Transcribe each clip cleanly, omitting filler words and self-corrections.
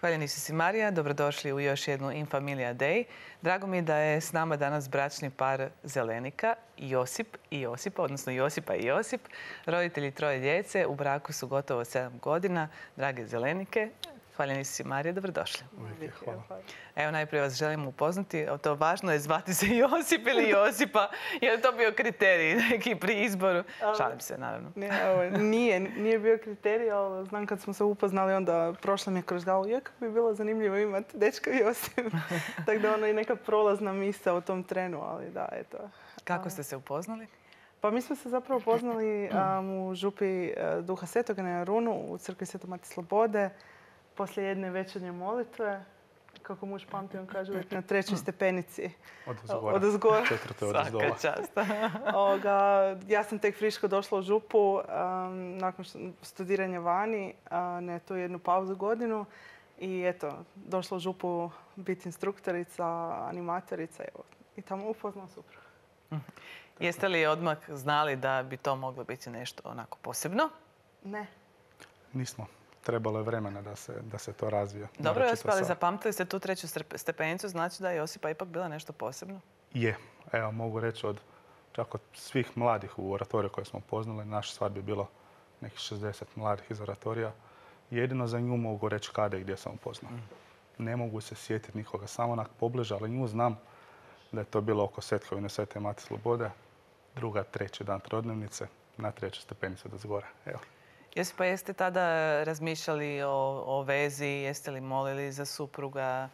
Hvaljeni si Marija, dobrodošli u još jednu In Familia Day. Drago mi je da je s nama danas bračni par Zelenika, Josip i Josipa, odnosno Josipa i Josip. Roditelji troje djece, u braku su gotovo 7 godina. Drage Zelenike, hvaljeni si Marija, dobrodošli. Hvala. Evo, najprije vas želim upoznati. To važno je zvati se Josip ili Josipa. Je li to bio kriterij neki pri izboru? Šalim se, naravno. Nije bio kriterij, ali znam kad smo se upoznali, onda prošla mi je kroz glavu. Kako bi bilo zanimljivo imati dečka Josip. Tako da ono i neka prolazna misao u tom trenu, ali da, eto. Kako ste se upoznali? Pa mi smo se zapravo upoznali u župi Duha Svetoga na Jarunu, u crkvi Svetog Matije Slobode, poslije jedne večernje molitve. Kako muž pamti, on kaže uvijek na 3. stepenici. Odozgora. 4. odozdola. Svaka čast. Ja sam tek friško došla u župu nakon studiranja vani, na tu jednu pauzu godinu. I eto, došla u župu biti instruktorica, animatorica i tamo upoznala supruga. Jeste li odmah znali da bi to moglo biti nešto onako posebno? Ne. Nismo. Trebalo je vremena da se to razvije. Dobro, Josip, ali zapamtili ste tu 3. stepenicu, znači da je Josipa ipak bila nešto posebno? Je. Evo, mogu reći čak od svih mladih u oratoriju koje smo poznali, naš svadbi je bilo nekih 60 mladih iz oratorija. Jedino za nju mogu reći kada i gdje sam upoznao. Ne mogu se sjetiti nikoga, samo onak pobliže, ali nju znam da je to bilo oko Svetkovine Svete Matije Slobode, 2., 3. dan trodnevnice, na 3. stepenicu do zgora. Evo. Josipa, jeste tada razmišljali o vezi, jeste li molili za supruga?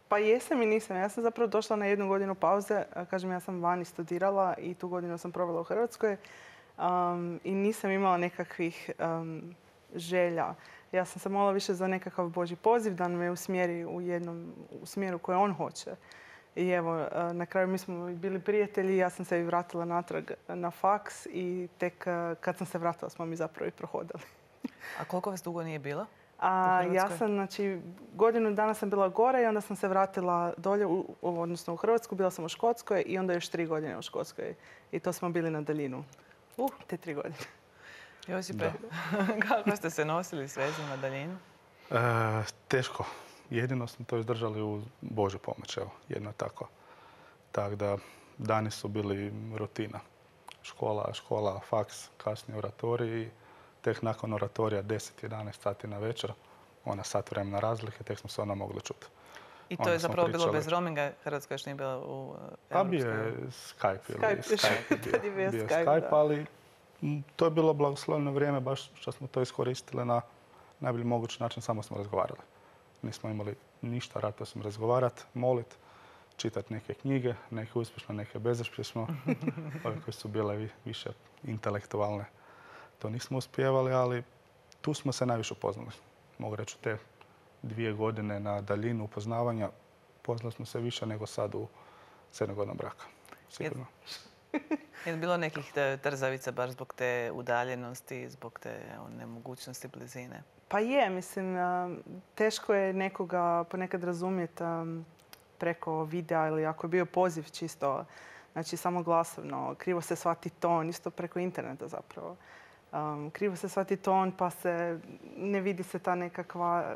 Pa jesam i nisam. Ja sam zapravo došla na 1 godinu pauze. Kažem, ja sam vani studirala i tu godinu sam provela u Hrvatskoj. I nisam imala nekakvih želja. Ja sam se molila više za nekakav Božji poziv da me usmjeri u smjeru koje on hoće. I evo, na kraju mi smo bili prijatelji, ja sam se i vratila natrag na faks i tek kad sam se vratila smo mi zapravo i prohodali. A koliko vas dugo nije bilo? Ja sam, znači, godinu dana sam bila gore i onda sam se vratila dolje, odnosno u Hrvatsku, bila sam u Škotskoj i onda još 3 godine u Škotskoj. I to smo bili na daljinu. Te 3 godine. Josipe, kako ste se nosili s vezom na daljinu? Teško. Jedino smo to izdržali u Božju pomoć, evo, jedno tako. Tako da dani su bili rutina. Škola, faks, kasnije oratorij i tek nakon oratorija 10-11 sati na večer, ona sat vremena razlike, tek smo se onda mogli čuti. I to je zapravo bilo bez roaminga, Hrvatska još nije bila u Europskoj? Pa bio je Skype. Bio Skype, ali to je bilo blagosloveno vrijeme, baš što smo to iskoristili na najbolji mogući način, samo smo razgovarali. Nismo imali ništa, rado smo razgovarati, moliti, čitati neke knjige, neke uspješno, neke bezuspješno. Ove koje su bile više intelektualne. To nismo uspijevali, ali tu smo se najviše upoznali. Mogu reći, te 2 godine na daljinu upoznavanja poznali smo se više nego sad u 7 godina braka. Sigurno. Je li bilo nekih trzavica baš zbog te udaljenosti, zbog te nemogućnosti blizine? Pa je, mislim, teško je nekoga ponekad razumjeti preko videa ili ako je bio poziv čisto, znači samo glasovno, krivo se shvati ton, isto preko interneta zapravo. Krivo se shvati ton pa se ne vidi se ta nekakva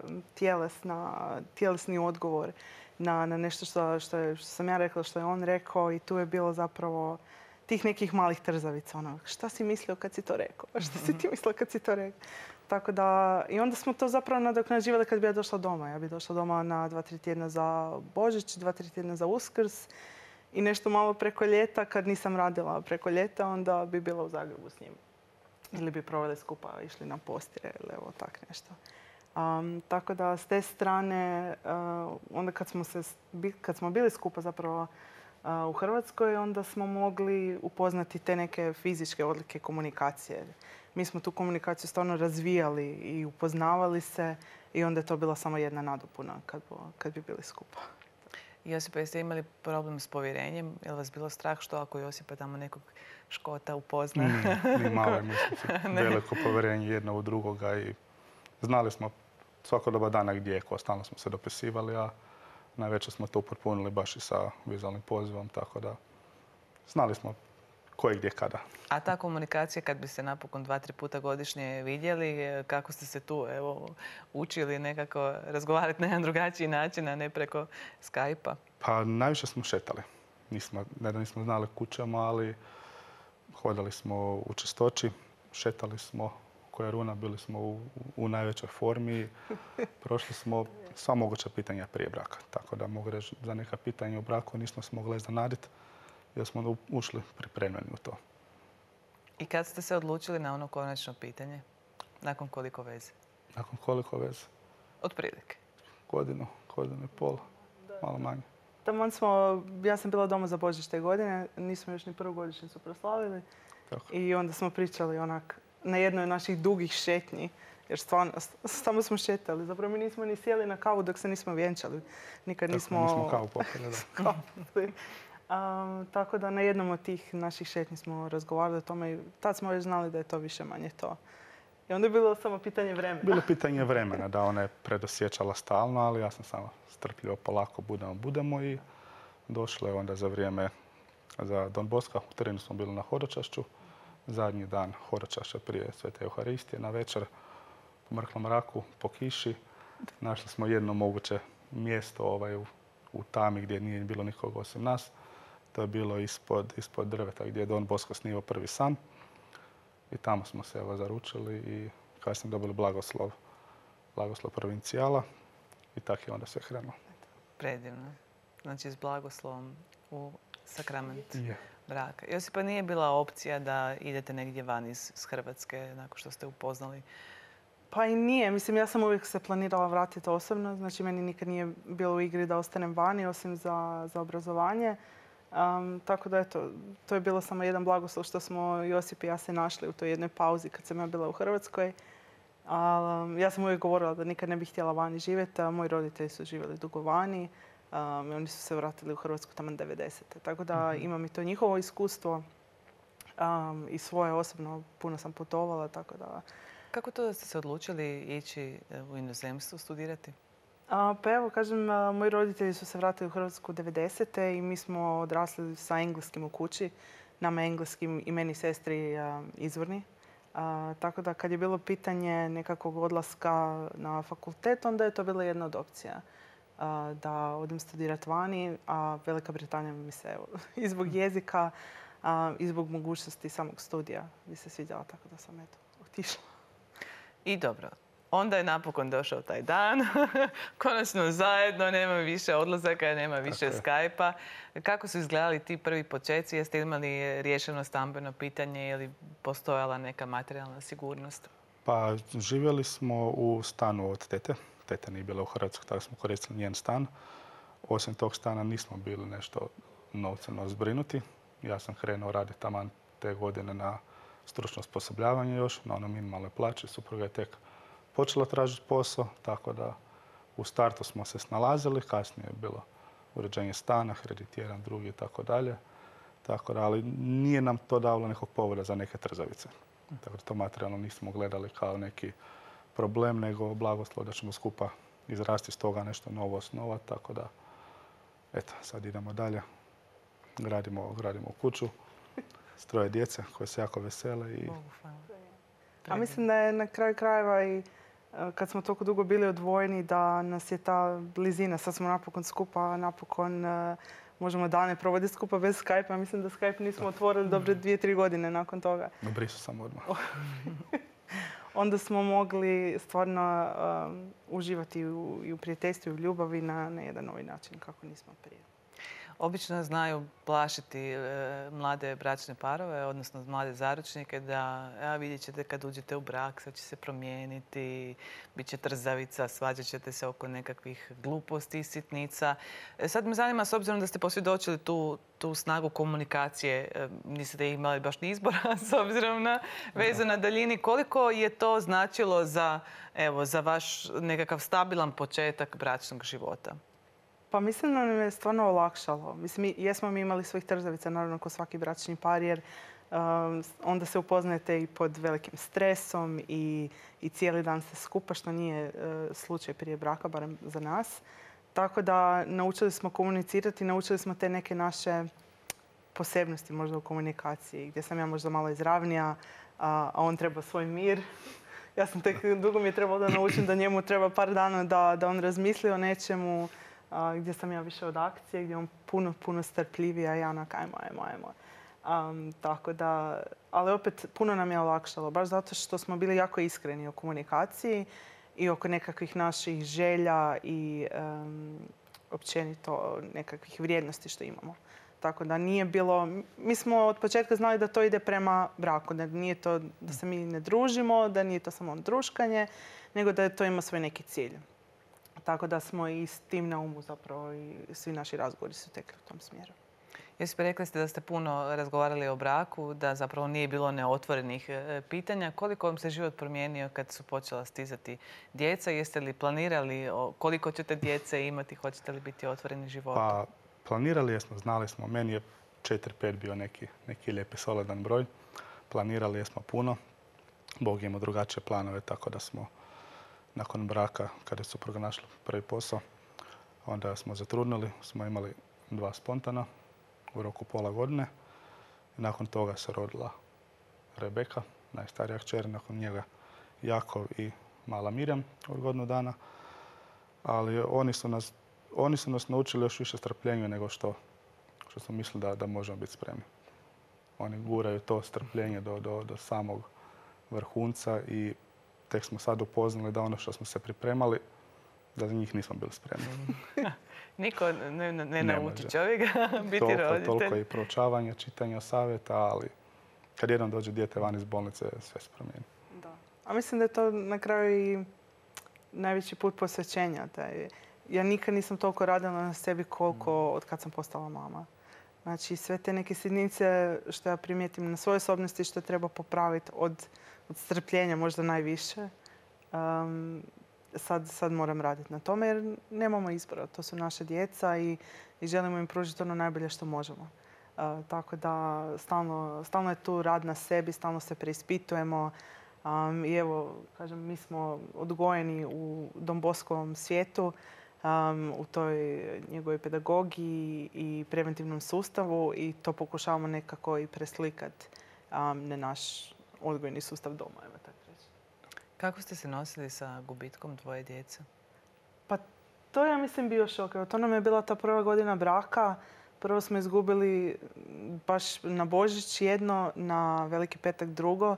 tjelesni odgovor na nešto što sam ja rekla, što je on rekao i tu je bilo zapravo tih nekih malih trzavica. Ono, šta si mislio kad si to rekao? Šta si ti mislila kad si to rekao? Tako da, i onda smo to zapravo nadoknađivali kad bi ja došla doma. Ja bi došla doma na 2-3 tjedna za Božić, 2-3 tjedna za Uskrs i nešto malo preko ljeta. Kad nisam radila preko ljeta, onda bi bila u Zagrebu s njim. Ili bi proveli skupa, išli na postire ili evo tak nešto. Tako da, s te strane, onda kad smo bili skupa zapravo u Hrvatskoj, onda smo mogli upoznati te neke fizičke odlike komunikacije. Mi smo tu komunikaciju stvarno razvijali i upoznavali se i onda je to bila samo jedna nadopuna kad bi bili skupa. Josipa, jeste imali problem s povjerenjem? Je li vas bilo strah što ako Josipa tamo nekog Škota upozna? Ni malo, mislim, veliko povjerenje jedno u drugoga i znali smo svako doba dana gdje je ko, stalno smo se dopisivali, a najveće smo to upotpunili baš i sa vizualnim pozivom, tako da znali smo ko je gdje kada. A ta komunikacija, kad bi se napokon 2-3 puta godišnje vidjeli, kako ste se tu učili nekako razgovarati na jedan drugačiji način, a ne preko Skype-a? Pa najviše smo šetali. Ne da nismo znali kućama, ali hodali smo u Čistoći, šetali smo koja runa, bili smo u najvećoj formi. Prošli smo sva moguća pitanja prije braka. Tako da mogu reći za neka pitanja u braku nismo se mogli iznenaditi jer smo ušli pripremljeni u to. I kad ste se odlučili na ono konačno pitanje? Nakon koliko veze? Nakon koliko veze? Otprilike. Godinu i pol, malo manje. Taman ja sam bila doma za Božić te godine, nismo još ni prvu godišnjicu proslavili. Tako. I onda smo pričali onak na jednoj od naših dugih šetnji, jer stvarno, samo smo šetali. Zapravo mi nismo ni sjeli na kavu dok se nismo vjenčali. Nikad nismo kavu popili, da. Tako da na jednom od tih naših šetnji smo razgovarali o tome i tad smo već znali da je to više manje to. I onda je bilo samo pitanje vremena. Bilo pitanje vremena, da ona je predosjećala stalno, ali ja sam samo strpljivo, polako budemo i došlo je onda za vrijeme za Don Boska. U terenu smo bili na Horočašću. Zadnji dan Horočašća prije Svete Euharistije, na večer po mrklom mraku, po kiši. Našli smo jedno moguće mjesto u tami gdje nije bilo nikoga osim nas. To je bilo ispod drveta gdje je Don Bosko snimao prvi san. I tamo smo se zaručili i kasnije dobili blagoslov provincijala i tako je onda sve krenulo. Predivno. Znači s blagoslovom u sakrament Je. braka. Josipa, nije bila opcija da idete negdje van iz Hrvatske nakon što ste upoznali? Pa i nije. Mislim, ja sam uvijek se planirala vratiti osobno. Znači, meni nikad nije bilo u igri da ostanem vani, osim za obrazovanje. Tako da, eto, to je bilo samo jedan blagoslov što smo Josip i ja se našli u toj jednoj pauzi kad sam ja bila u Hrvatskoj. Ja sam uvijek govorila da nikad ne bih htjela vani živjeti, a moji roditelji su živjeli dugo vani. Oni su se vratili u Hrvatsku tamo 90. Tako da imam i to njihovo iskustvo i svoje osobno. Puno sam putovala, tako da... Kako to da ste se odlučili ići u inozemstvo studirati? Pa evo, kažem, moji roditelji su se vratili u Hrvatsku 90. i mi smo odrasli sa engleskim u kući. Nama engleskim i meni i sestri izvorni. Tako da kad je bilo pitanje nekakvog odlaska na fakultet, onda je to bila jedna od opcija. Da odem studirati vani, a Velika Britanija mi se i zbog jezika i zbog mogućnosti samog studija mi se svidjela, tako da sam otišla. I dobro, onda je napokon došao taj dan, konačno zajedno, nema više odlazaka, nema više Skype-a. Kako su izgledali ti prvi počeci? Jeste imali riješeno stambeno pitanje ili postojala neka materijalna sigurnost? Pa živjeli smo u stanu od tete. Teta nije bila u Hrvatskoj, tako smo koristili njen stan. Osim tog stana nismo bili nešto novceno zbrinuti. Ja sam krenuo raditi taman te godine na stručno osposobljavanje još, na ono minimalnoj plaći. Supruga je tek počela tražiti posao, tako da u startu smo se snalazili. Kasnije je bilo uređenje stana, kredit jedan, drugi i tako dalje. Tako da, ali nije nam to davalo nekog povoda za neke trzavice. Tako da to materijalno nismo gledali kao neki problem, nego blagoslov da ćemo skupa izrasti iz toga nešto novo osnovati. Tako da, eto, sad idemo dalje. Gradimo kuću s 3 djece koje se jako vesele. A mislim da je na kraju krajeva i kad smo toliko dugo bili odvojeni da nas je ta blizina. Sad smo napokon skupa, napokon možemo dane provoditi skupa bez Skype-a. Mislim da Skype nismo otvorili dobre 2-3 godine nakon toga. Brisu sam odmah. Onda smo mogli stvarno uživati i u prijateljstvu i u ljubavi na jedan novi način kako nismo prije. Obično znaju plašiti mlade bračne parove, odnosno mlade zaručnike, da vidjet ćete kad uđete u brak, sad će se promijeniti, bit će trzavica, svađat ćete se oko nekakvih gluposti i sitnica. Sad me zanima, s obzirom da ste posvjedočili tu snagu komunikacije, niste imali baš ni izbora s obzirom na vezu na daljini, koliko je to značilo za vaš nekakav stabilan početak bračnog života? Pa mislim da nam je stvarno olakšalo. Mislim, jesmo mi imali svojih trzavica, naravno, kao svaki bračni par, jer onda se upoznajete i pod velikim stresom i cijeli dan ste skupa, što nije slučaj prije braka, barem za nas. Tako da naučili smo komunicirati, naučili smo te neke naše posebnosti možda u komunikaciji, gdje sam ja možda malo izravnija, a on treba svoj mir. Ja sam tek, dugo mi je trebalo da naučim da njemu treba par dana da on razmisli o nečemu, gdje sam ja više od akcije, gdje je on puno strpljiviji, a ja onak ajmo. Tako da, ali opet puno nam je olakšalo, baš zato što smo bili jako iskreni u komunikaciji i oko nekakvih naših želja i općenito nekakvih vrijednosti što imamo. Tako da nije bilo, mi smo od početka znali da to ide prema braku, da nije to da se mi ne družimo, da nije to samo druškanje, nego da to ima svoj neki cilj. Tako da smo i s tim na umu zapravo i svi naši razgovori su tekli u tom smjeru. Josip, rekli ste da ste puno razgovarali o braku, da zapravo nije bilo neotvorenih pitanja. Koliko vam se život promijenio kad su počela stizati djeca? Jeste li planirali koliko ćete djece imati? Hoćete li biti otvoreni životu? Pa, planirali smo, znali smo. Meni je 4-5 bio neki lijepi solidan broj. Planirali smo puno. Bog ima drugačije planove, tako da smo nakon braka, kada su pronašli prvi posao, onda smo zatrudnili. Smo imali 2 spontana u roku pola godine. I nakon toga se rodila Rebeka, najstarija kćer, nakon njega Jakov i mala Mirjam od godinu dana. Ali oni su nas naučili još više strpljenju nego što smo mislili da možemo biti spremni. Oni guraju to strpljenje do samog vrhunca i tek smo sad upoznali da ono što smo se pripremali, da za njih nismo bili spremni. Niko ne nauči čovjeka biti roditelj. Toliko i proučavanja, čitanja savjeta, ali kad jednom dođe dijete van iz bolnice, sve se promijeni. Da. A mislim da je to na kraju i najveći put posvećenja. Ja nikad nisam toliko radila na sebi koliko od kad sam postala mama. Znači, sve te neke sitnice što ja primijetim na svojoj osobnosti što treba popraviti od strpljenja možda najviše. Sad moram raditi na tome jer nemamo izbora. To su naše djeca i želimo im pružiti ono najbolje što možemo. Tako da stalno je tu rad na sebi, stalno se preispitujemo. I evo, kažem, mi smo odgojeni u Don Boskovom svijetu, u toj njegovoj pedagogiji i preventivnom sustavu i to pokušavamo nekako i preslikati na naš odgojni sustav doma, evo tako reći. Kako ste se nosili sa gubitkom 2 djece? Pa to ja mislim bio šok. To nam je bila ta prva godina braka. Prvo smo izgubili baš na Božić jedno, na Veliki petak drugo.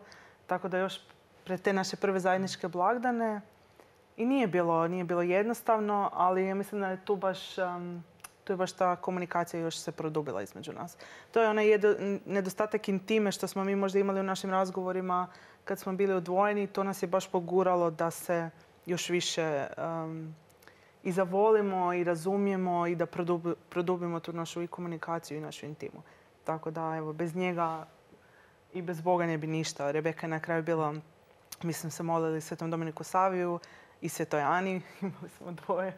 Tako da još pred te naše prve zajedničke blagdane i nije bilo jednostavno, ali ja mislim da je tu baš ta komunikacija još se produbila između nas. To je onaj nedostatak intime što smo mi možda imali u našim razgovorima kad smo bili odvojeni. To nas je baš poguralo da se još više i zavolimo i razumijemo i da produbimo tu našu i komunikaciju i našu intimu. Tako da, evo, bez njega i bez Boga ne bi ništa. Rebeka je na kraju bila, mislim, se molili Svetom Dominiku Saviju i Svetoj Ani. Imali smo 2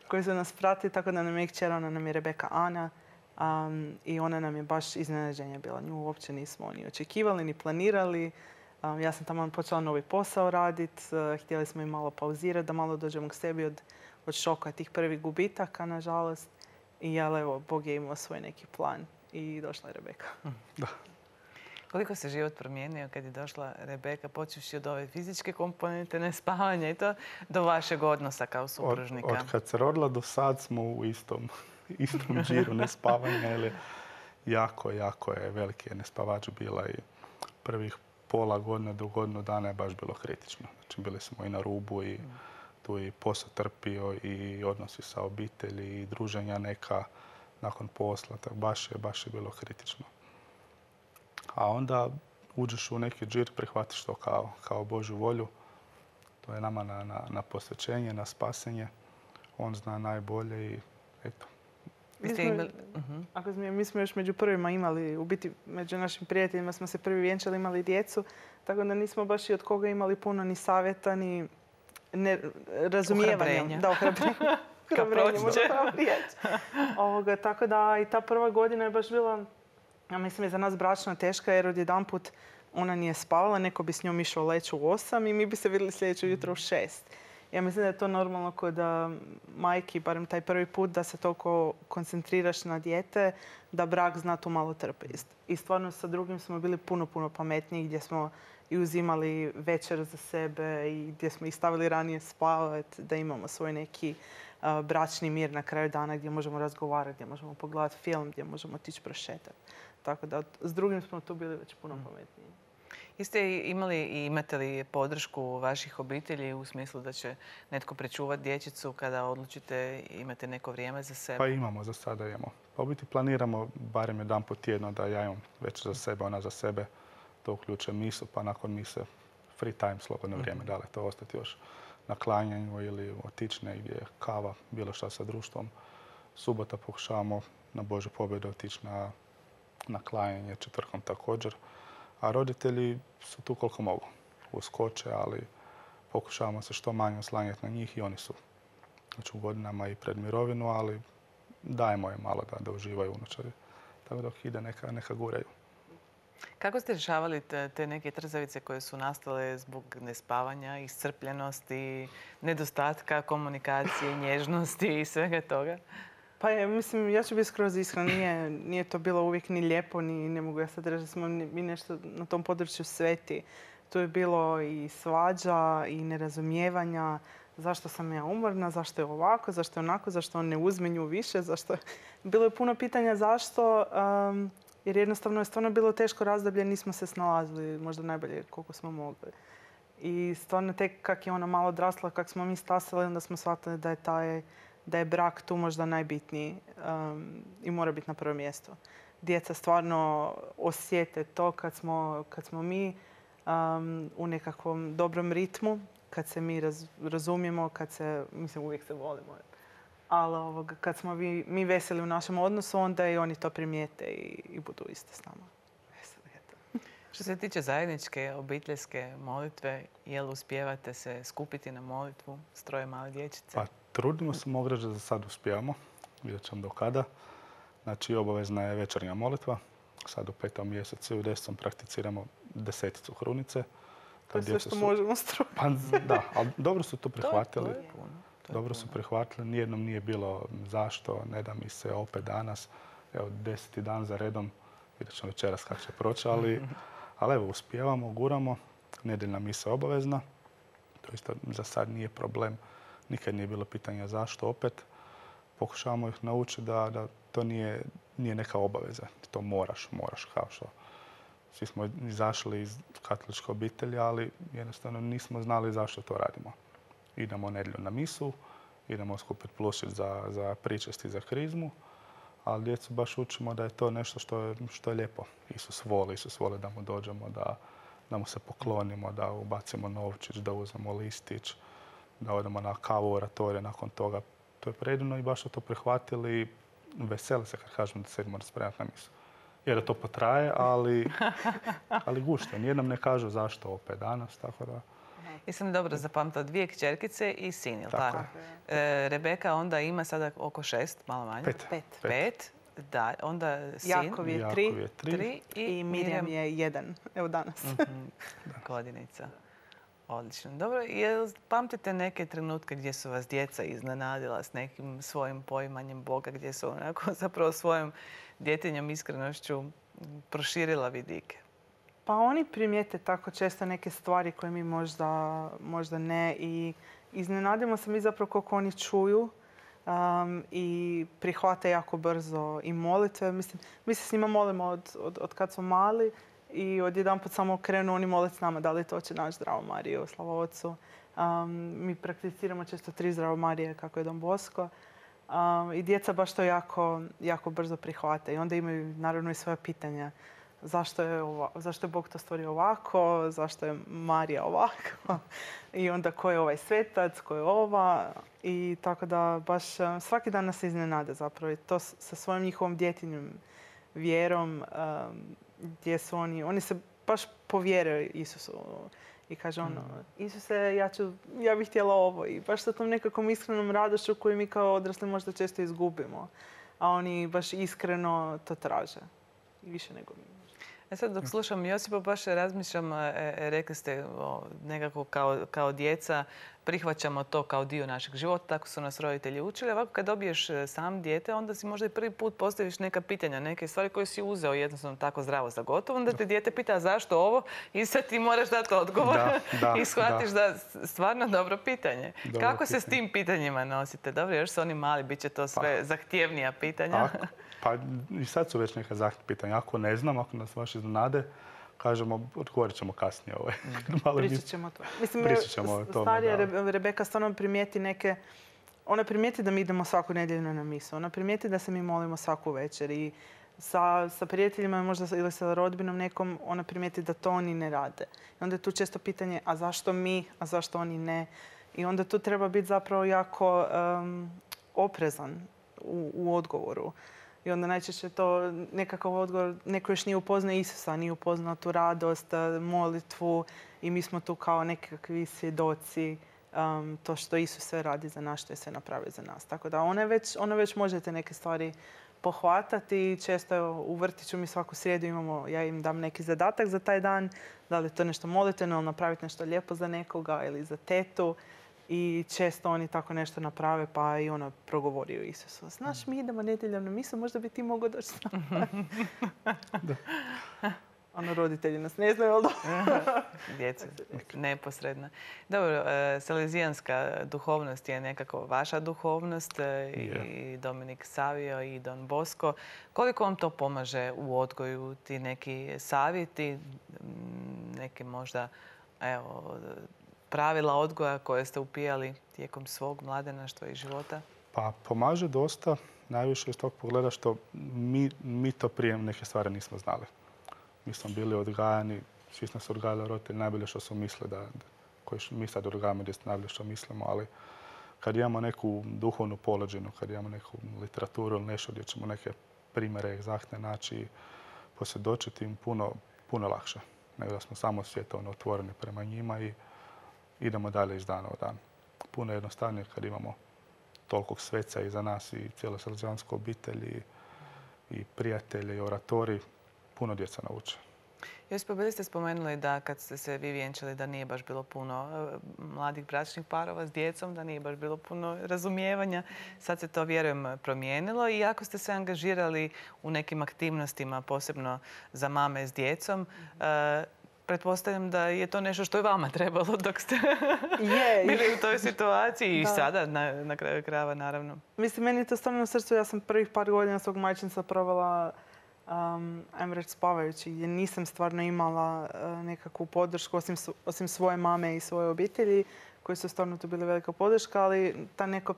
koji su nas pratili, tako da nam je kćer, ona nam je Rebeka Ana. I ona nam je baš iznenađenje bila. Nju uopće nismo ni očekivali, ni planirali. Ja sam tamo počela novi posao raditi. Htjeli smo i malo pauzirati, da malo dođemo k sebi od šoka tih prvih gubitaka, nažalost. I evo, Bog je imao svoj neki plan i došla je Rebeka. Da. Koliko se život promijenio kad je došla Rebeka, počevši od ove fizičke komponente, nespavanja i to, do vašeg odnosa kao supružnika? Od kad se rodila do sad smo u istom džiru nespavanja. Jako je veliki nespavač bila i prvih pola godine do godinu dana je baš bilo kritično. Znači, bili smo i na rubu i tu i posao trpio i odnosi sa obitelji i druženja neka nakon posla. Tako baš je bilo kritično. A onda uđeš u neki džir, prihvatiš to kao Božju volju. To je nama na posvećenje, na spasenje. On zna najbolje i eto. Mi smo još među prvima imali, u biti među našim prijateljima smo se prvi vjenčali, imali djecu, tako da nismo baš i od koga imali puno ni savjeta, ni razumijevanja. Da, ohrabrenje, možda pravo riječ. Tako da i ta prva godina je baš bila, ja mislim, je za nas bračna teška jer odjedanput ona nije spavala, neko bi s njom išao leći u 8 i mi bi se vidjeli sljedeće jutro u 6. Ja mislim da je to normalno kod majki, barem taj prvi put, da se toliko koncentriraš na dijete, da brak zna tu malo trpiti. I stvarno sa drugim smo bili puno, puno pametniji, gdje smo i uzimali večer za sebe i gdje smo ih stavili ranije spavati, da imamo svoj neki bračni mir na kraju dana gdje možemo razgovarati, gdje možemo pogledati film, gdje možemo otići prošetati. Tako da s drugim smo tu bili već puno pametniji. Jeste imali i imate li podršku vaših obitelji u smislu da će netko prečuvati dječicu kada odlučite imate neko vrijeme za sebe? Pa imamo, za sada imamo. Pa u biti planiramo barem jedan po tjedno da ja imam već za sebe, ona za sebe. To uključuje misu, pa nakon mise free time, slobodno vrijeme. Da li to ostati još na klanjanju ili otići negdje, kava, bilo šta sa društvom. Subota pokušavamo na Božju pobjedu otići na klanjanje, četvrtkom također. A roditelji su tu koliko mogu. Uskoče, ali pokušavamo se što manje oslanjati na njih i oni su znači, u godinama i pred mirovinu, ali dajemo im malo da uživaju unučari. Tako dok ide neka guraju. Kako ste rješavali te neke trzavice koje su nastale zbog nespavanja, iscrpljenosti, nedostatka komunikacije, nježnosti i svega toga? Pa mislim, ja ću biti skroz iskrena, nije to bilo uvijek ni lijepo, ni ne mogu ja sad reći da smo mi nešto na tom području sveti. Tu je bilo i svađa i nerazumijevanja, zašto sam ja umorna, zašto je ovako, zašto je onako, zašto on ne uzme nju više, zašto... Bilo je puno pitanja zašto, jer jednostavno je stvarno bilo teško razdoblje, nismo se snalazili možda najbolje koliko smo mogli. I stvarno tek kak je ona malo odrasla, kak smo mi stasali, onda smo shvatili da je brak tu možda najbitniji i mora biti na prvom mjestu. Djeca stvarno osjete to kad smo mi u nekakvom dobrom ritmu, kad se mi razumijemo, mislim uvijek se volimo, ali kad smo mi veseli u našem odnosu, onda i oni to primijete i budu isto s nama. Što se tiče zajedničke obiteljske molitve, jel uspijevate se skupiti na molitvu s troje male dječice? Pa trudimo se, mogu reći da za sad uspijevamo. Vidjet ćemo do kada. Znači, obavezna je večernja molitva. Sad u 5. mjesecu i u 10. prakticiramo 10 hrunice. To je sve što možemo strojiti. Pa da, ali dobro su to prihvatili. To je puno. Dobro su prihvatili. Nijednom nije bilo zašto, ne da mi se opet danas. Evo, 10. dan za redom. Vidjet ćemo večeras kako će proći, ali evo, uspijevamo, guramo. Nedjeljna misa je obavezna. To isto za sad nije problem. Nikad nije bilo pitanja zašto opet. Pokušavamo ih naučiti da to nije neka obaveza. To moraš kao što. Svi smo izašli iz katoličke obitelji, ali jednostavno nismo znali zašto to radimo. Idemo nedjelju na misu, idemo skupiti plušić za pričest i za krizmu, ali djecu baš učimo da je to nešto što je lijepo. Isus voli da mu dođemo, da mu se poklonimo, da ubacimo novčić, da uzmemo listić, da odemo na kavu u oratoriju nakon toga. To je predivno i baš su to prihvatili i vesele se kad kažemo da se idemo spremati na misu. Jer to potraje, ali gušte. Nijednom ne kažu zašto opet danas, tako da... Jesam dobro zapamtila, 2 kćerkice i sin, jel tako? Rebeka onda ima sada oko 6, malo manje. 5. Da, onda sin. Jakov je 3 i Mirjam je 1. Evo danas. Godinica. Odlično. Dobro, jel pamtite neke trenutke gdje su vas djeca iznenadila s nekim svojim poimanjem Boga, gdje su onako zapravo svojom djetinjom iskrenošću proširila vidike? Pa oni primijete tako često neke stvari koje mi možda ne i iznenadimo se mi zapravo koliko oni čuju i prihvate jako brzo i molitve. Mislim, mi se s njima molimo od kad smo mali i odjedanput samo krenu oni moliti s nama da li to Oče naš, Zdravo Marijo, Slava Otcu. Mi prakticiramo često 3 Zdravo Marije kako je Don Bosco. I djeca baš to jako brzo prihvate i onda imaju naravno i svoje pitanja. Zašto je Bog to stvorio ovako, zašto je Marija ovako i onda ko je ovaj svetac, ko je ova. I tako da baš svaki dan nas iznenade zapravo. I to sa svojom njihovom djetinjom vjerom gdje su oni se baš povjere Isusu. I kaže Isuse, ja bih htjela ovo. I baš sa tom nekakvom iskrenom radošću koju mi kao odrasli možda često izgubimo. A oni baš iskreno to traže. I više nego mi. Sad dok slušam Josipa, baš razmišljam, rekli ste nekako kao djeca prihvaćamo to kao dio našeg života, tako su nas roditelji učili. Ovako kad dobiješ sam dijete, onda si možda i prvi put postaviš neka pitanja, neke stvari koje si uzeo jednostavno tako zdravo za gotovo. Onda te dijete pita zašto ovo i sad ti moraš dati odgovor i shvatiš da stvarno dobro pitanje. Kako se s tim pitanjima nosite? Dobro, još su oni mali, bit će to sve zahtjevnija pitanja. Pa i sad su već neka zahtjevna pitanja. Ako ne znam, ako nas baš iznenade, kažemo, odgovorit ćemo kasnije. Pričat ćemo to. Mislim, starija Rebeka stvarno primijeti neke... Ona primijeti da mi idemo svaku nedjelju na misu. Ona primijeti da se mi molimo svaku večer. I sa prijateljima možda ili sa rodbinom nekom, ona primijeti da to oni ne rade. I onda je tu često pitanje, a zašto mi, a zašto oni ne? I onda tu treba biti zapravo jako oprezan u odgovoru. I onda najčešće to nekakav odgovor, neko još nije upoznao Isusa, nije upoznao tu radost, molitvu i mi smo tu kao nekakvi svjedoci to što Isus sve radi za nas, što je sve napravio za nas. Tako da ona već možete neke stvari pohvatati i često u vrtiću mi svaku srijedu imamo, ja im dam neki zadatak za taj dan, da li je to nešto molitveno ili napraviti nešto lijepo za nekoga ili za tetu. I često oni tako nešto naprave, pa i ona progovori o Isusu. Znaš, mi idemo nedjeljom na misu, možda bi ti mogao doći s nama. Ono, roditelji nas ne znaju, ali djeca, neposredna. Dobro, salezijanska duhovnost je nekako vaša duhovnost i Dominik Savio i Don Bosco. Koliko vam to pomaže u odgoju, ti neki savjeti, neki možda, pravila odgoja koje ste upijali tijekom svog mladenaštva i života? Pa pomaže dosta, najviše iz tog pogleda što mi to prije neke stvari nismo znali. Mi smo bili odgajani, svi smo se odgajali roditelji najbolje što su mislili koji mi sad odgajamo gdje najbolje što mislimo, ali kad imamo neku duhovnu polođenu, kad imamo neku literaturu ili nešto gdje ćemo neke primjere egzaktne naći i posvjedočiti im puno lakše nego da smo samo svjetovno otvoreni prema njima i idemo dalje iz dana u dan. Puno jednostavnije kad imamo tolikog sveca iza nas i cijelu salezijansku obitelj i prijatelje i oratori. Puno djeca nauče. Josipa, bili ste spomenuli da kad ste se vi vjenčali da nije baš bilo puno mladih bračnih parova s djecom, da nije baš bilo puno razumijevanja. Sad se to, vjerujem, promijenilo i ako ste se angažirali u nekim aktivnostima, posebno za mame s djecom, pretpostavljam da je to nešto što je vama trebalo dok ste bili u toj situaciji i sada na kraju krajeva, naravno. Mislim, meni je to stvarno u srcu. Ja sam prvih par godina svog majčinstva provela ajmo reći spavajući, gdje nisam stvarno imala nekakvu podršku osim svoje mame i svoje obitelji koji su stvarno tu bili velika podrška, ali ta neko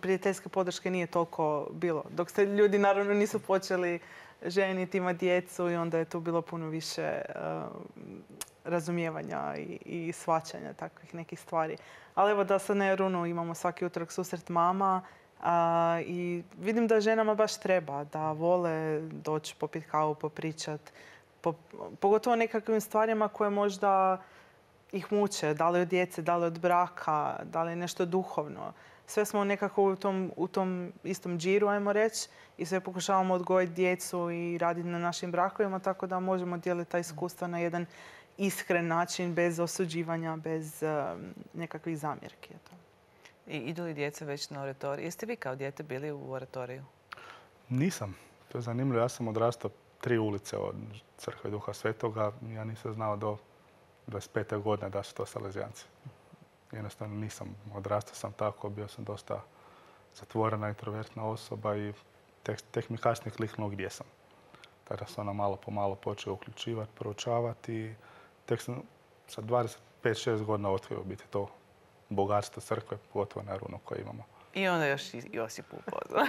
prijateljske podrške nije toliko bilo. Dok se ljudi naravno nisu počeli ženiti, imati djecu i onda je tu bilo puno više razumijevanja i shvaćanja takvih nekih stvari. Ali evo da sad na Jarunu imamo svaki utorak susret mama i vidim da ženama baš treba, da vole doći popiti kavu, popričat. Pogotovo nekakvim stvarima koje možda ih muče, da li od djece, da li od braka, da li nešto duhovno. Sve smo nekako u tom istom džiru, ajmo reći, i sve pokušavamo odgojiti djecu i raditi na našim brakovima, tako da možemo dijeliti ta iskustva na jedan iskren način, bez osuđivanja, bez nekakvih zamjerki. I idu li djeca već na oratorij? Jeste vi kao dijete bili u oratoriju? Nisam. To je zanimljivo. Ja sam odrastao 3 ulice od Crkve Duha Svetoga. Ja nisam znao do 25. godine da su to salezijanci. Jednostavno nisam. Odrastao sam tako, bio sam dosta zatvorena, introvertna osoba i tek mi kasnije kliknuo gdje sam. Tada sam malo po malo počeo uključivati, proučavati i tek sam sa 25-6 godina otkrio biti to bogatstvo crkve, pogotovo na Jarunu koje imamo. I onda još Josip upoznao.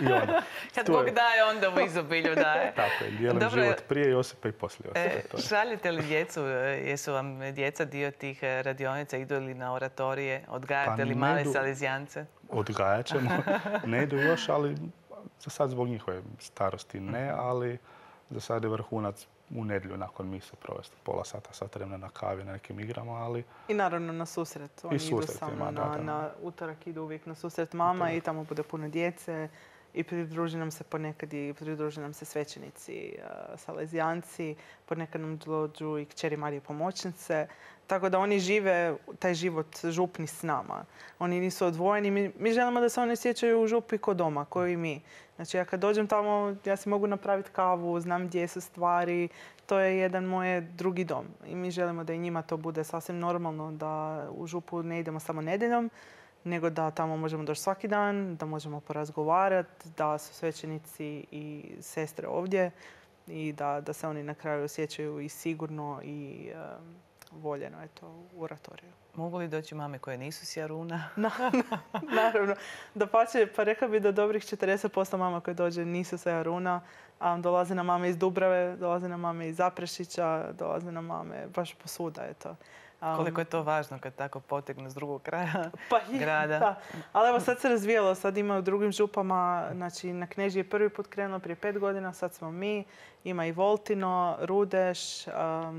Kad Bog daje, onda u izobilju daje. Tako je, dijelim život prije Josipa i poslije Josipa. Šaljete li djecu, jesu vam djeca dio tih radionica, idu li na oratorije, odgajate li male salezijance? Odgajat ćemo. Ne idu još, ali za sad zbog njihove starosti ne, ali za sad je vrhunac u nedjelju nakon mise provesti pola sat vremena na kavi, na nekim igrama, ali... I naravno na susret. Oni idu samo na utorak, idu uvijek na susret mama i tamo bude puno djece i pridruži nam se ponekad i pridruže nam se svećenici, salezijanci, ponekad nam dođu i kćeri Marije pomoćnice. Tako da oni žive taj život župni s nama. Oni nisu odvojeni. Mi želimo da se oni osjećaju u župi ko doma, ko i mi. Znači ja kad dođem tamo, ja si mogu napraviti kavu, znam gdje su stvari. To je jedan moj drugi dom. I mi želimo da i njima to bude sasvim normalno, da u župu ne idemo samo nedjeljom, nego da tamo možemo doći svaki dan, da možemo porazgovarati, da su svećenici i sestre ovdje i da se oni na kraju osjećaju i sigurno i voljeno u oratoriju. Mogu li doći mame koje nisu s Jaruna? Naravno. Dapače, pa rekla bi da dobrih 40% mama koje dođe nisu sa Jaruna. Dolaze nam mame iz Dubrave, dolaze nam mame iz Zaprešića, dolaze nam mame baš posuda. Koliko je to važno kad tako potegnu s drugog kraja grada. Da. Ali evo sad se razvijelo, sad ima u drugim župama, znači na Knežiji je prvi put krenulo prije 5 godina, sad smo mi, ima i Voltino, Rudeš,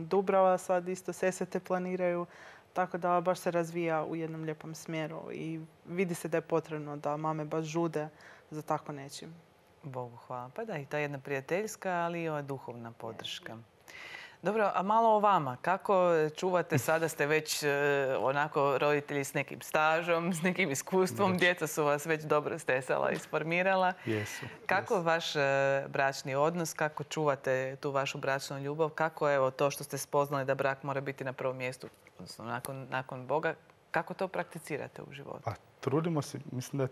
Dubrava sad isto Sesvete planiraju, tako da baš se razvija u jednom lijepom smjeru i vidi se da je potrebno da mame baš žude za tako nečim. Bogu hvala. Pa da, i ta jedna prijateljska, ali i ova duhovna podrška. Dobro, a malo o vama. Kako čuvate, sada ste već onako roditelji s nekim stažom, s nekim iskustvom, djeca su vas već dobro stesala i isformirala. Jesu. Kako je vaš bračni odnos, kako čuvate tu vašu bračnu ljubav, kako je to što ste spoznali da brak mora biti na prvom mjestu, odnosno nakon Boga, kako to prakticirate u životu? Pa, trudimo se, mislim da je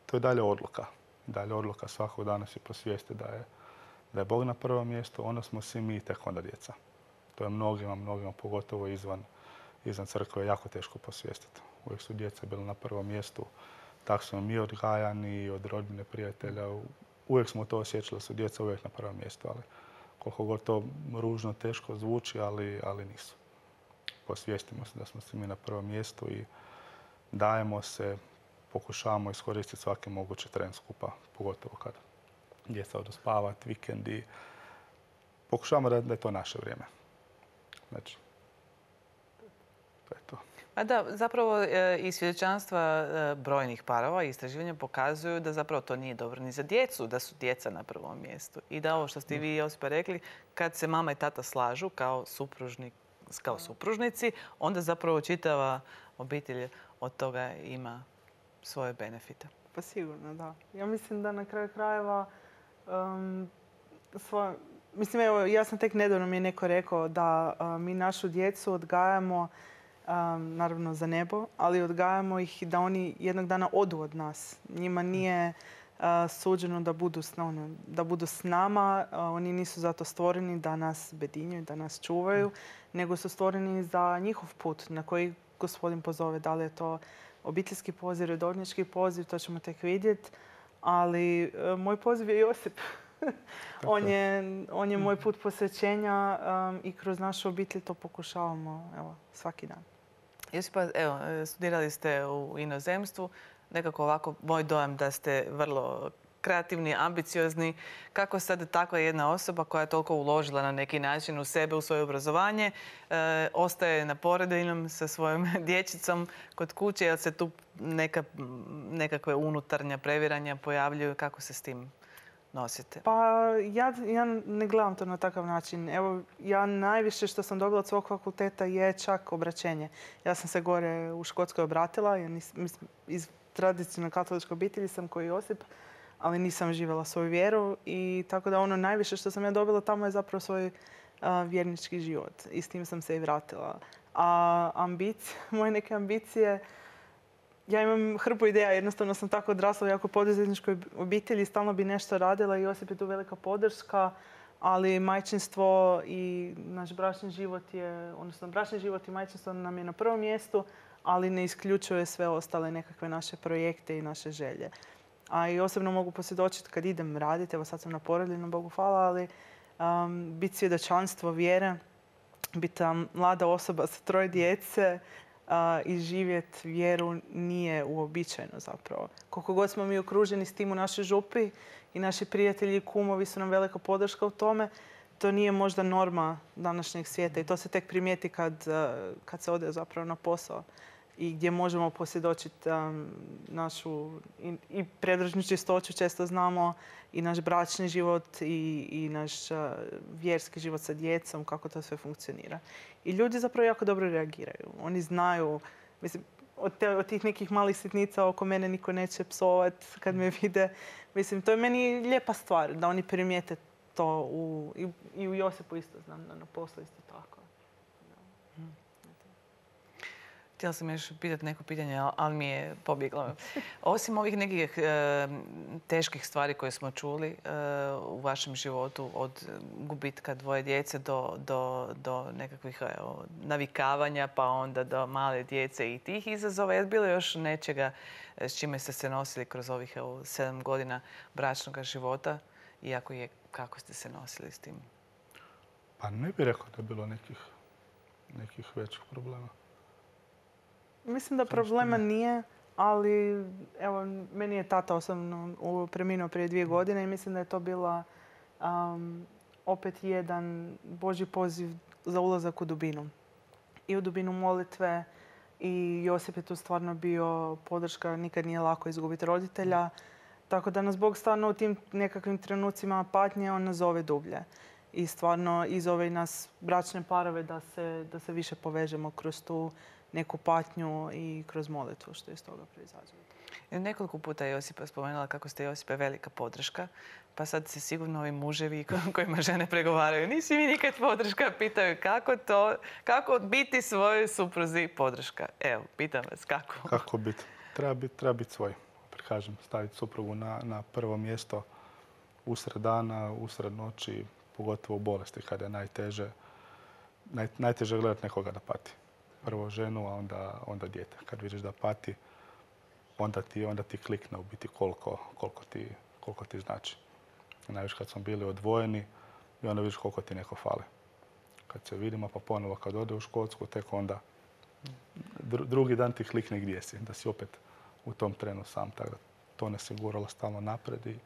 to je dalje odluka. Dalje odluka svakog dana se posvijesti da je Bog na prvom mjestu, onda smo svi mi tek onda djeca. To je mnogima, pogotovo izvan crkve, jako teško posvijestiti. Uvijek su djeca bili na prvom mjestu. Tako smo mi odgajani, od rodbine, prijatelja. Uvijek smo to osjećali da su djeca uvijek na prvom mjestu, ali koliko god to ružno, teško zvuči, ali nisu. Posvijestimo se da smo svi mi na prvom mjestu i dajemo se, pokušavamo iskoristiti svaki mogući tren skupa, pogotovo kada djeca odu spavati, vikendi. Pokušavamo da je to naše vrijeme. Znači, to je to. A da, zapravo i svjedočanstva brojnih parova i istraživanja pokazuju da zapravo to nije dobro ni za djecu, da su djeca na prvom mjestu. I da ovo što ste vi, Josipa, rekli, kad se mama i tata slažu kao supružnici, onda zapravo čitava obitelj od toga ima svoje benefite. Pa sigurno, da. Ja mislim da na kraju krajeva mislim, evo, ja sam tek nedavno mi je neko rekao da mi našu djecu odgajamo naravno za nebo, ali odgajamo ih da oni jednog dana odu od nas. Njima nije suđeno da budu s nama. Oni nisu zato stvoreni da nas bedinjuju, da nas čuvaju, nego su stvoreni za njihov put na koji Gospodin pozove. Da li je to obiteljski poziv, redovnički poziv, to ćemo tek vidjeti. Ali moj poziv je Josip. On je moj put posvećenja i kroz našu obitelj to pokušavamo svaki dan. Josipa, evo, studirali ste u inozemstvu. Nekako ovako moj dojam da ste vrlo kreativni, ambiciozni. Kako sad takva jedna osoba koja je toliko uložila na neki način u sebe, u svoje obrazovanje, ostaje na porodiljnom sa svojom dječicom kod kuće, jel se tu nekakve unutarnja previranja pojavljuju? Kako se s tim nosite? Pa ja ne gledam to na takav način. Evo, ja najviše što sam dobila od svog fakulteta je čak obraćenje. Ja sam se gore u Škotskoj obratila. Iz tradicionalne katoličke obitelji sam koji Josip, ali nisam živjela svoju vjeru. I tako da ono najviše što sam ja dobila tamo je zapravo svoj vjernički život. I s tim sam se i vratila. A moje neke ambicije, ja imam hrpu ideja, jednostavno sam tako odrasla u jako poduzetničkoj obitelji, stalno bi nešto radila i Josip je tu velika podrška, ali majčinstvo i naš bračni život bračni život i majčinstvo nam je na prvom mjestu, ali ne isključuje sve ostale nekakve naše projekte i naše želje. A i osobno mogu posvjedočiti kad idem raditi, evo sad sam na porodiljnom, Bogu hvala, ali biti svjedočanstvo vjere, biti mlada osoba sa 3 djece, i živjeti vjeru nije uobičajeno zapravo. Koliko god smo mi okruženi s tim u našoj župi i naši prijatelji i kumovi su nam velika podrška u tome, to nije možda norma današnjeg svijeta i to se tek primijeti kad se ode zapravo na posao. i gdje možemo posvjedočiti našu i predružnu čistoću, često znamo, i naš bračni život i naš vjerski život sa djecom, kako to sve funkcionira. I ljudi zapravo jako dobro reagiraju. Oni znaju, mislim, od tih nekih malih sitnica oko mene niko neće psovat kad me vide. Mislim, to je meni lijepa stvar da oni primijete to i u Josipu isto znam, na poslu isto tako. Htjela sam još pitati neko pitanje, ali mi je pobjeglo. Osim ovih nekih teških stvari koje smo čuli u vašem životu, od gubitka 2 djece do nekakvih navikavanja, pa onda do male djece i tih izazova, je bilo još nečega s čime ste se nosili kroz ovih 7 godina bračnog života? Iako je, kako ste se nosili s tim? Pa ne bih rekao da je bilo nekih većih problema. Mislim da problema nije, ali evo, meni je tata osobno preminuo prije 2 godine i mislim da je to bila opet jedan Božji poziv za ulazak u dubinu. I u dubinu molitve i Josip je tu stvarno bio podrška, nikad nije lako izgubiti roditelja. Tako da nas Bog stvarno u tim nekakvim trenucima patnje, on nas zove dublje. I stvarno i zove i nas bračne parove da se više povežemo kroz tu neku patnju i kroz molitvu što iz toga proizađe. Nekoliko puta je Josipa spomenula kako ste Josipe velika podrška, pa sad se sigurno ovi muževi kojima žene pregovaraju, nisi mi nikad podrška, pitaju kako biti svojoj supruzi podrška. Evo, pitam vas kako. Kako biti? Treba biti svoj. Kažem, staviti suprugu na prvo mjesto usred dana, usred noći, pogotovo u bolesti kada je najteže gledati nekoga da pati. Prvo ženu, a onda dijete. Kad vidiš da pati, onda ti klikne u biti koliko ti znači. Najviše kad smo bili odvojeni i onda vidiš koliko ti neko fali. Kad se vidimo, pa ponovo kad ode u Škotsku, tek onda drugi dan ti klikne gdje si, da si opet u tom trenu sam. Tako da to nas je guralo stalno napred i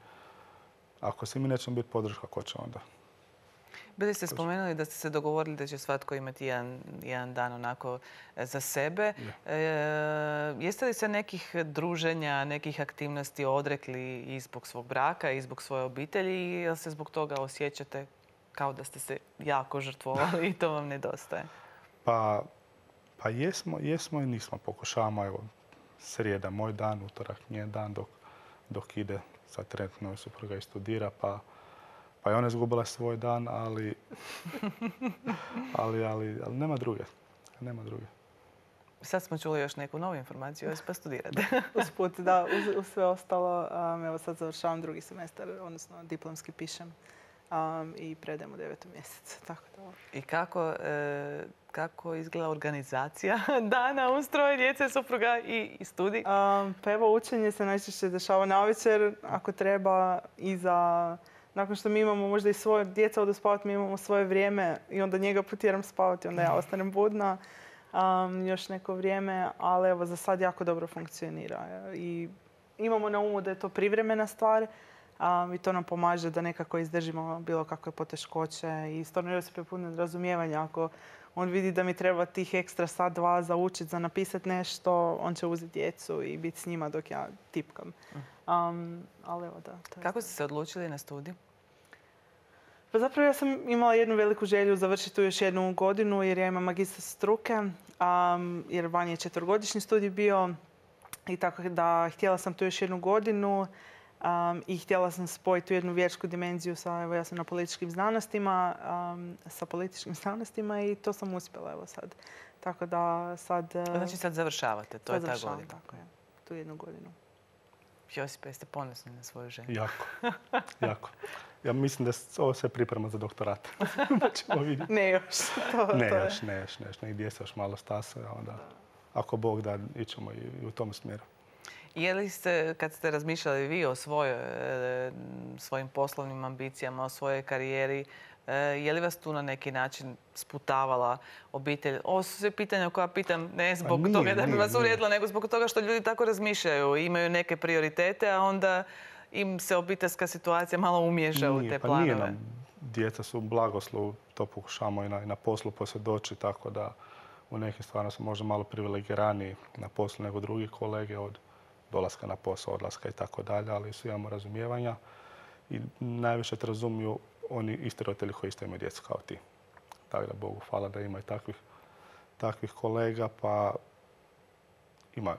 ako se mi nećemo biti podrška, ko će onda? Bili ste spomenuli da ste se dogovorili da će svatko imati jedan dan onako za sebe. Jeste li se nekih druženja, nekih aktivnosti odrekli i zbog svog braka i zbog svoje obitelji ili se zbog toga osjećate kao da ste se jako žrtvovali i to vam nedostaje? Pa jesmo i nismo. Pokušavamo, evo, srijeda moj dan, utorak njen dan dok ide. Sad trenutno je supruga i studira, pa je ona izgubila svoj dan, ali nema druge. Sad smo čuli još neku novu informaciju, pa studirate. Usput, da, uz sve ostalo, evo sad završavam 2. semestar, odnosno diplomski pišem i predajem u 9. mjesecu. Tako da. I kako izgleda organizacija dana uz 3 djece, supruga i studij? Pa evo, učenje se najčešće dešava navečer, ako treba, nakon što mi imamo možda i svoje djeca odu spavati, mi imamo svoje vrijeme i onda njega potjeram spavati, onda ja ostanem budna još neko vrijeme, ali evo za sad jako dobro funkcionira. I imamo na umu da je to privremena stvar i to nam pomaže da nekako izdržimo bilo kakve poteškoće i stvarno Josip je puno razumijevanja. Ako on vidi da mi treba tih ekstra sat, 2 za učiti, za napisati nešto, on će uzeti djecu i biti s njima dok ja tipkam. Ali evo da. Kako ste se odlučili na studij? Pa zapravo ja sam imala jednu veliku želju završiti tu još 1 godinu jer ja imam magistar struke, jer van je 4-godišnji studij bio i tako da htjela sam tu još 1 godinu i htjela sam spojiti tu jednu vjersku dimenziju evo ja sam na političkim znanostima, sa političkim znanostima i to sam uspjela evo sad. Tako da sad... Znači sad završavate, to je ta godina. Tako je, tu 1 godinu. Josipe, jeste ponosni na svoju ženu? Jako. Ja mislim da ovo sve priprema za doktorat. Pa ćemo vidjeti. Ne još. Ne još. Negdje se još malo stasa, onda ako Bog da, ićemo i u tom smjeru. Je li ste, kad ste razmišljali vi o svojim poslovnim ambicijama, o svojoj karijeri, je li vas tu na neki način sputavala obitelj? Ovo su sve pitanja koja pitam ne zbog toga da bi vas uvrijedila, nego zbog toga što ljudi tako razmišljaju. Imaju neke prioritete, a onda im se obiteljska situacija malo umiješa u te planove. Nije nam. Djeca su blagoslov, to pokušamo i na poslu posvjedočiti, tako da u nekim stvarima smo možda malo privilegiraniji na poslu nego drugi kolege od dolaska na posao, odlaska i tako dalje, ali svi imamo razumijevanja i najviše te razumiju oni isti roditelji koji isto imaju djecu kao ti. Tako da Bogu hvala da ima i takvih kolega, pa ima.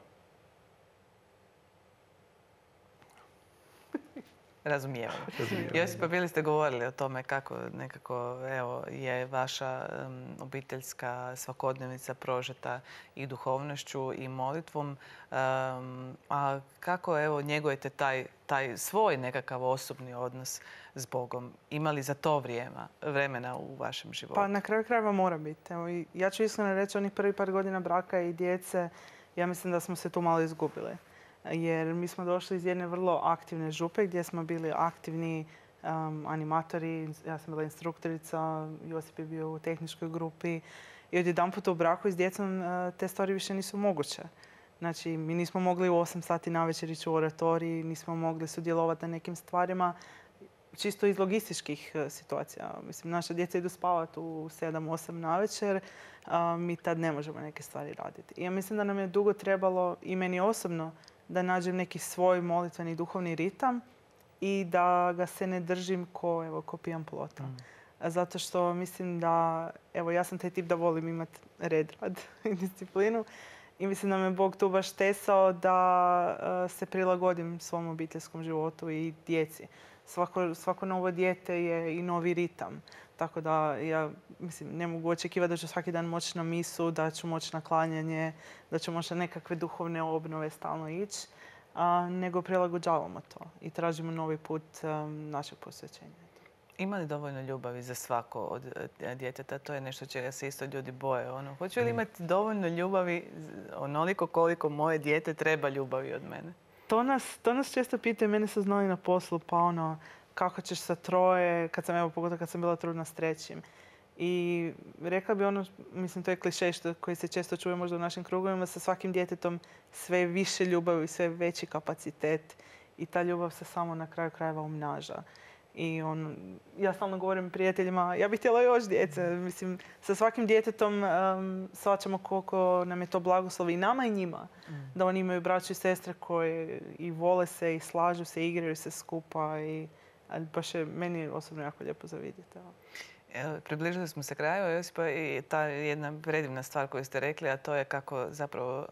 Razumijevanje. Josipa, bili ste govorili o tome kako nekako je vaša obiteljska svakodnevnica prožeta i duhovnošću i molitvom. A kako njegujete taj svoj nekakav osobni odnos s Bogom? Ima li za to vremena u vašem životu? Pa na kraju krajeva mora biti. Ja ću iskreno reći, onih prvih par godina braka i djece, ja mislim da smo se tu malo izgubili. Jer mi smo došli iz jedne vrlo aktivne župe gdje smo bili aktivni animatori. Ja sam bila instruktorica, Josip je bio u tehničkoj grupi. I odjedanput u braku i s djecom te stvari više nisu moguće. Znači, mi nismo mogli u 8 sati navečer ići u oratorij, nismo mogli sudjelovati na nekim stvarima, čisto iz logističkih situacija. Mislim, naša djeca idu spavati u 7-8 navečer, mi tad ne možemo neke stvari raditi. I ja mislim da nam je dugo trebalo, i meni osobno, da nađem neki svoj molitveni duhovni ritam i da ga se ne držim ko pijan plota. Zato što mislim da, ja sam taj tip da volim imati red, rad i disciplinu i mislim da me Bog tu baš tesao da se prilagodim svom obiteljskom životu i djeci. Svako novo dijete je i novi ritam. Tako da ja ne mogu očekivati da ću svaki dan moći na misu, da ću moći na klanjanje, da ću moći na nekakve duhovne obnove stalno ići, nego prilagođavamo to i tražimo novi put našeg posvećenja. Ima li dovoljno ljubavi za svako od djeteta? To je nešto čega se isto ljudi boje. Hoću li imati dovoljno ljubavi onoliko koliko moje dijete treba ljubavi od mene? To nas često pitaju, mene su znali na poslu, pa kako ćeš sa troje, pogotovo kad sam bila trudna s trećim. I rekla bi mislim to je klišej koji se često čuje možda u našim krugovima, sa svakim djetetom sve više ljubavi, sve veći kapacitet i ta ljubav se samo na kraju krajeva umnaža. I ja stalno govorim prijateljima, ja bih htjela još djece. Mislim, sa svakim djetetom shvaćamo koliko nam je to blagoslov i nama i njima. Da oni imaju braću i sestre koje i vole se i slažu se, igraju se skupa. Baš je meni osobno jako lijepo za vidjeti. Približili smo se kraju, Josipa, i ta jedna predivna stvar koju ste rekli, a to je kako zapravo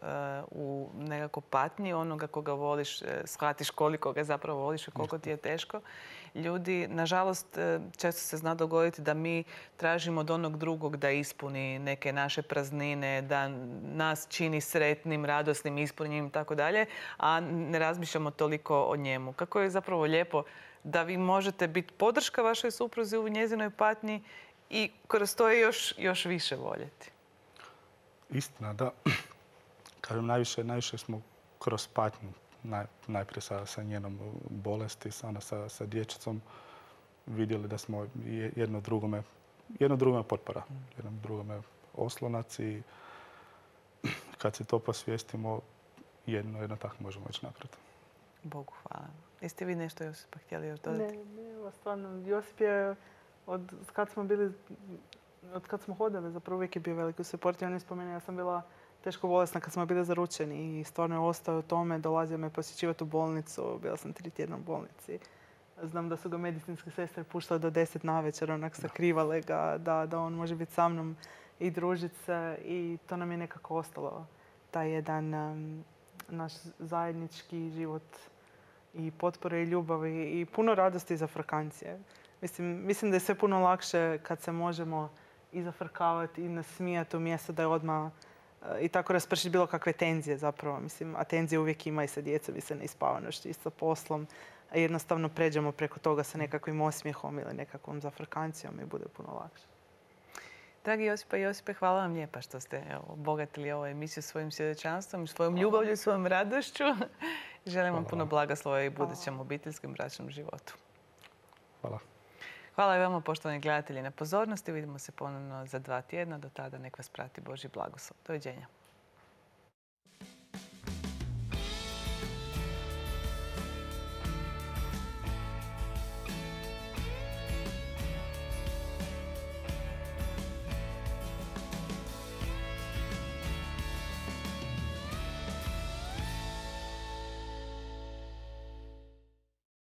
u nekako patnji onoga koga voliš, shvatiš koliko ga zapravo voliš i koliko ti je teško. Ljudi, nažalost, često se zna dogoditi da mi tražimo od onog drugog da ispuni neke naše praznine, da nas čini sretnim, radosnim, ispunjenim i tako dalje, a ne razmišljamo toliko o njemu. Kako je zapravo lijepo da vi možete biti podrška vašoj supruzi u njezinoj patnji i kroz to je još više voljeti. Istina, da. Kažem, najviše smo kroz patnju, najprije sa njenom bolesti, sa dječicom, vidjeli da smo jedno drugome potpora, jedno drugome oslonac i kad se to posvijestimo, jedno tako možemo ići naprijed. Bogu hvala. Jeste vi nešto, Josipa, htjeli još dodati? Ne, stvarno. Josip je od kad smo hodali, zapravo uvijek je bio veliki suport. On je spomenuo, ja sam bila teško bolesna kad smo bili zaručeni i stvarno je ostao u tome. Dolazio me posjećivati u bolnicu. Bila sam 3 tjedna u bolnici. Znam da su ga medicinske sestre puštale do 10 navečer, sakrivale ga da on može biti sa mnom i družiti se. I to nam je nekako ostalo. Taj jedan naš zajednički život i potpore i ljubavi i puno radosti za frkancije. Mislim da je sve puno lakše kad se možemo i zafrkavati i nasmijati umjesto da je odmah i tako raspršiti bilo kakve tenzije zapravo. A tenzije uvijek ima i sa djecom i sa neispavanošću i sa poslom. A jednostavno pređemo preko toga sa nekakvim osmijehom ili nekakvom zafrkancijom i bude puno lakše. Dragi Josipa i Josipe, hvala vam lijepa što ste obogatili ovu emisiju svojim svjedočanstvom, svojom ljubavlju i svojom radošću. Želim vam puno blagoslova i budućem obiteljskom bračnom životu. Hvala. Hvala i vama, poštovani gledatelji, na pozornosti. Vidimo se ponovno za 2 tjedna. Do tada nek vas prati Božji blagoslov. Doviđenja.